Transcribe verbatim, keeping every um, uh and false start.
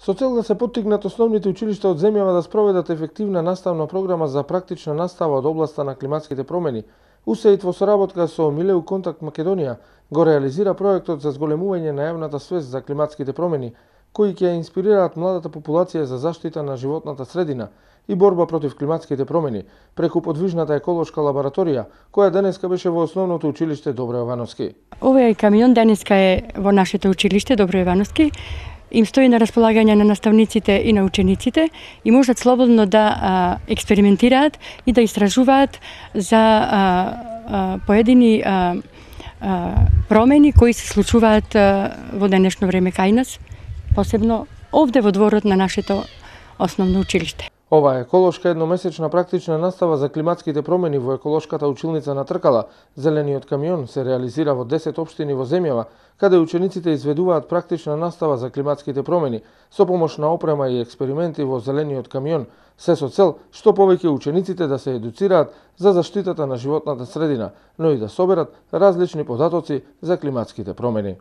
Со цел да се поттикнат основните училишта од земјава да спроведат ефективна наставна програма за практична настава од областа на климатските промени, У С А И Д во соработка со Милеу Контакт Македонија го реализира проектот за зголемување на јавната свест за климатските промени, кои ќе инспирираат младата популација за заштита на животната средина и борба против климатските промени преку подвижната еколошка лабораторија, која денеска беше во основното училиште Добро Јовановски. Овој камион денеска е во нашето училиште Добро Јовановски. Им стои на располагање на наставниците и на учениците и можат слободно да а, експериментираат и да истражуваат за а, а, поедини а, а, промени кои се случуваат а, во денешно време кај нас, посебно овде во дворот на нашето основно училиште. Ова еколошка едномесечна практична настава за климатските промени во еколошката училница на Тркала, Зелениот камион, се реализира во десет општини во земјава, каде учениците изведуваат практична настава за климатските промени со помош на опрема и експерименти во Зелениот камион, се со цел што повеќе учениците да се едуцираат за заштитата на животната средина, но и да соберат различни податоци за климатските промени.